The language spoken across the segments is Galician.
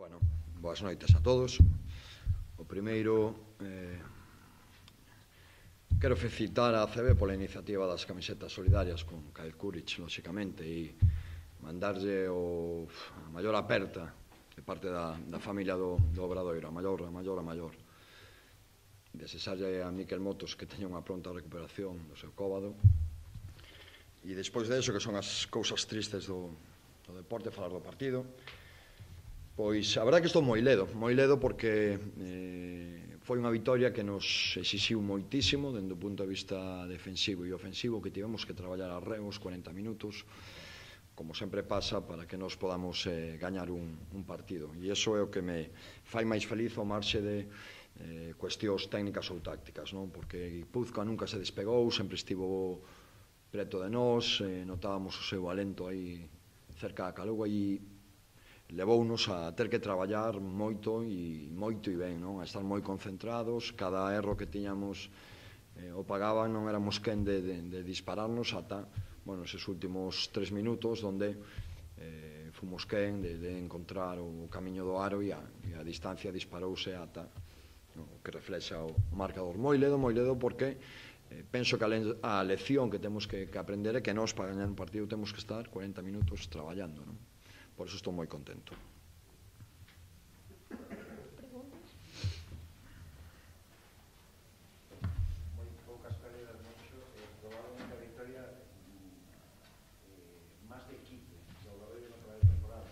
Bueno, boas noites a todos. O primeiro, quero felicitar a ACB pola iniciativa das camisetas solidarias con Kyle Kuric, lóxicamente, e mandarlle a maior aperta de parte da familia do Obradoiro, a maior. Desexarlle a Miquel Motos que teña unha pronta recuperación do seu cóbado. E despois de eso, que son as cousas tristes do deporte, falar do partido, pois a verdade que estou moi ledo porque foi unha vitoria que nos exixiu moitísimo dende o punto de vista defensivo e ofensivo, que tivemos que traballar a os 40 minutos, como sempre pasa, para que nos podamos gañar un partido. E iso é o que me fai máis feliz ao marxe de cuestións técnicas ou tácticas, non? Porque Guipúzcoa nunca se despegou, sempre estivo preto de nós, notábamos o seu alento aí cerca da Caluga e levounos a ter que traballar moito e ben, non? A estar moi concentrados, cada erro que tiñamos o pagaban, non éramos quen de dispararnos ata, bueno, eses últimos 3 minutos onde fomos quen de encontrar o camiño do aro e a distancia disparouse ata o que reflexa o marcador. Moi ledo porque penso que a lección que temos que aprender é que nós para gañar un partido temos que estar 40 minutos traballando, non? Por iso estou moi contento. Moi poucas pérdidas, Moncho, probablemente a victoria máis de equipo do Obradoiro na toda a temporada,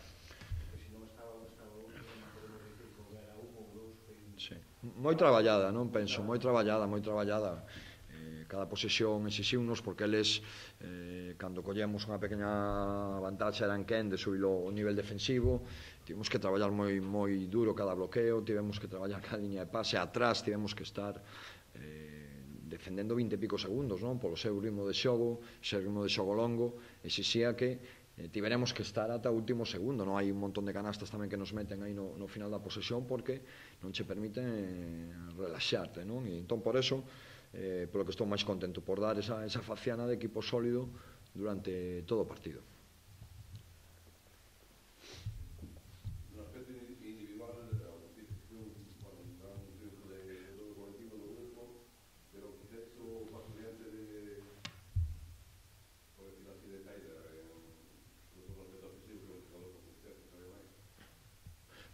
porque se non estaba outro, non podemos dicir que houbera un ou dous. Sí, moi traballada, non penso, moi traballada. Cada posesión exixiunos porque eles, cando collemos unha pequena vantaxe, eran quen de subir o nivel defensivo. Tivemos que traballar moi duro cada bloqueo, tivemos que traballar cada liña de pase, atrás tivemos que estar defendendo 20 e pico segundos, non? Polo seu ritmo de xogo, ese ritmo de xogo longo, exixía que tiveremos que estar ata o último segundo, non? Hai un montón de canastas tamén que nos meten aí no final da posesión porque non che permiten relaxarte, non? E entón, por eso, polo que estou máis contento, por dar esa faciana de equipo sólido durante todo o partido. No aspecto individual, ao dicir que foi un gran triunfo de todo o colectivo do grupo, pero quizás o paso diante de, por decirlo así, de Tyler, sobre todo no aspecto ofensivo, que é un xogador con confianza, sabe máis.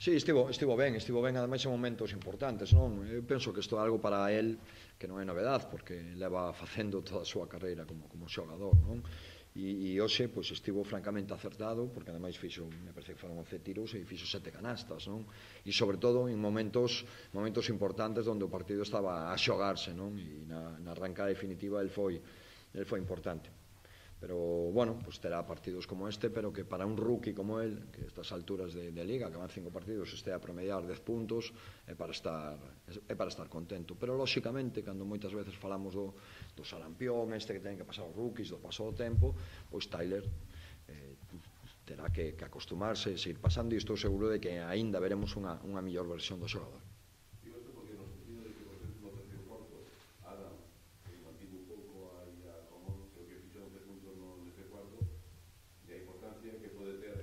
Sí, estivo ben, ademais en momentos importantes, non? Eu penso que isto é algo para el que non é novedade, porque leva facendo toda a súa carreira como xogador, non? E hoxe, pois, estivo francamente acertado, porque ademais fixo, me parece que foron 11 tiros e fixo 7 canastas, non? E sobre todo en momentos importantes onde o partido estaba a xogarse, non? E na arrancada definitiva el foi importante. Pero, bueno, pues terá partidos como este, pero que para un rookie como él, que a estas alturas de Liga, que van 5 partidos, este a promediar 10 puntos, é para estar contento. Pero, lóxicamente, cando moitas veces falamos do sarampión, este que ten que pasar os rookies, do paso do tempo, pois Tyler terá que acostumarse e seguir pasando, e estou seguro de que aínda veremos unha mellor versión do xogador. Digo isto porque no sentido de que, por exemplo, no terceiro cuarto, Adam, que mantivo un pouco aí a Romón, creo que fixou 11 puntos no terceiro cuarto, e a importancia que pode ter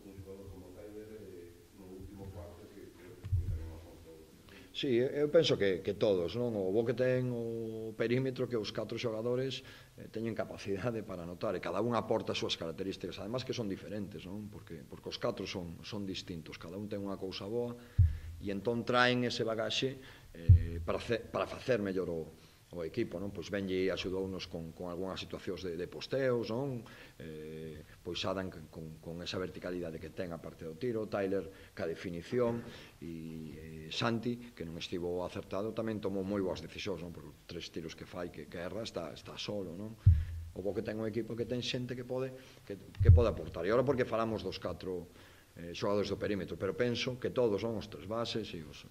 un xogador como Tyler no último cuarto, que creo que foi tamén unha fonte. Sí, eu penso que todos, non? O bo que ten o perímetro que os 4 xogadores teñen capacidade para anotar e cada un aporta as súas características, además que son diferentes, non? Porque os 4 son distintos, cada un ten unha cousa boa e entón traen ese bagaxe para facer mellor o equipo, non? Pois Benji axudounos con algunhas situacións de posteos, non? Pois Adam con esa verticalidade que ten a parte do tiro, Tyler ca definición e Santi, que non estivo acertado, tamén tomou moi boas decisións, non? Por 3 tiros que fai, que erra, está solo, non? O bo que ten un equipo que ten xente que pode aportar. E agora porque falamos dos 4 xogadores do perímetro, pero penso que todos, non? Os 3 bases e os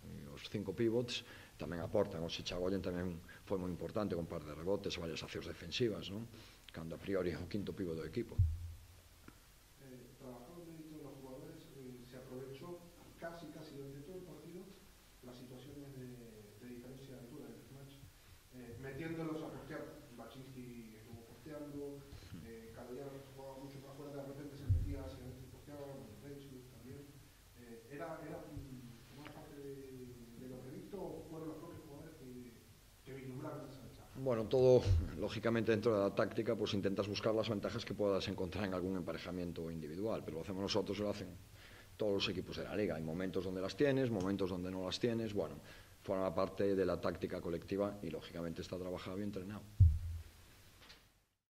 5 pivots tamén aportan. O Chichagoyen tamén foi moi importante con par de rebotes e varias accións defensivas, non? Cando a priori é o quinto pívot do equipo. Trabajando de los jugadores, se aprovechó casi durante todo el partido las situaciones de diferencia de altura del match, metiéndolos a postear. Baczynski estuvo posteando, Cadoyar jugaba mucho más fuera, de repente se metía hacia adentro y posteaba, Reyes también. Era Bueno, todo, lógicamente, dentro de la táctica, pues intentas buscar las ventajas que puedas encontrar en algún emparejamiento individual, pero lo hacemos nosotros y lo hacen todos los equipos de la liga. Hay momentos donde las tienes, momentos donde no las tienes, bueno, forma parte de la táctica colectiva y, lógicamente, está trabajado y entrenado.